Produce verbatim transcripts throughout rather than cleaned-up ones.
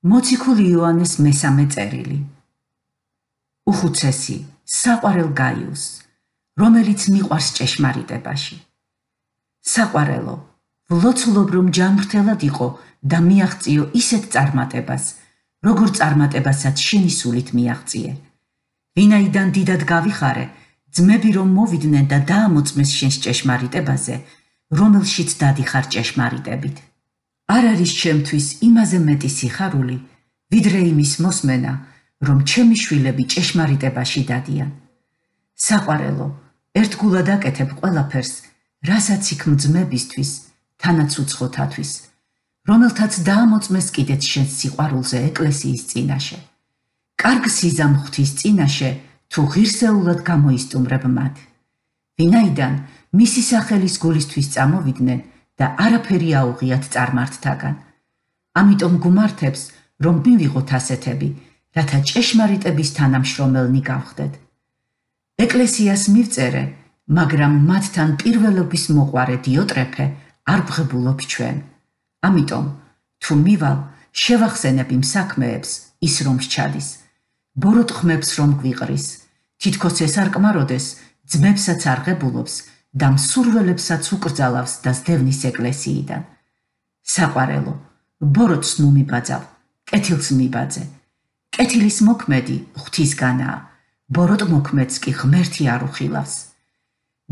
მოციქული იოანეს მესამე წერილი. უხუცესი, საყვარელ გაიუსს, რომელიც მიყვარს ჭეშმარიტებაში. საყვარელო, ვლოცულობ რომ ჯანმრთელად იყო და მიაღწიო ისეთ წარმატებას, როგორ წარმატებასაც შენი სულით მიაღწიე. ვინაიდან დიდად გავიხარე, ძმები რომ მოვიდნენ და დაამოწმეს შენს ჭეშმარიტებაზე, რომელშიც დადიხარ ჭეშმარიტებით. არ არის ჩემთვის იმაზე მეტი სიხარული, ვიდრე იმის მოსმენა, რომ ჩემი შვილები ჭეშმარიტებაში დადიან. საყვარელო, ერთგულად აკეთებ ყველაფერს, რასაც იქ ძმებისთვის, თანაც უცხოთათვის, რომელთაც დაამოწმეს კიდეც შენს სიყვარულზე ეკლესიის წინაშე. კარგ სიზამ ღვთის წინაშე, თუ ღირსეულად გამოისტუმრებ მათ. ვინაიდან მისი სახელის გულისთვის წამოვიდნენ და არაფერი აუღიათ წარმართთაგან. ამიტომ გუმართებს, რომ მივიღოთ ასეთები, რათა ჭეშმარიტების თანამშრომელნი გავხდეთ. ეკლესიას მივწერე, მაგრამ მათთან პირველობის მოყვარე დიოტრეფე არ ვღებულობ ჩვენ. ამიტომ, თუ მივალ, შევახსენებ იმ საქმეებს, ის რომ სჩადის. ბოროტ-ხმებს რომ გვიყრის, თითქოს ეს არ კმაროდეს, ძმებსაც არ ღებულობს და მსურველებსაც უკრძალავს და სდევნის ეკლესიიდან. საყვარელო, ბოროტს ნუ მიბაძავ, კეთილს მიბაძე. კეთილის მოქმედი ღვთისგანაა, ბოროტ-მოქმედს კი ღმერთი არ უხილავს.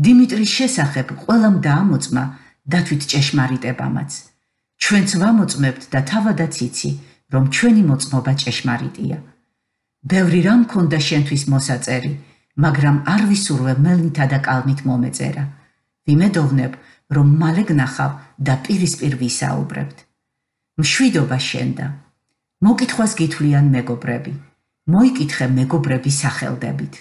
დიმიტრის შესახებ ყველამ დაამოწმა დათვით ჭეშმარიტებამაც. ჩვენც ვამოწმებთ და თავადაც იცი, რომ ჩვენი მოწმობა ჭეშმარიტია. ბევრი რამ მქონდა შენთვის მოსაწერი, მაგრამ არ ვისურვებ მელნითა და კალმით მომეწერა. ვიმედოვნებ, რომ მალე გნახავ და პირისპირ ვისაუბრებთ. მშვიდობა შენდა. მოკითხვას გითვლიან მეგობრები. მოიკითხე მეგობრების სახელდებით.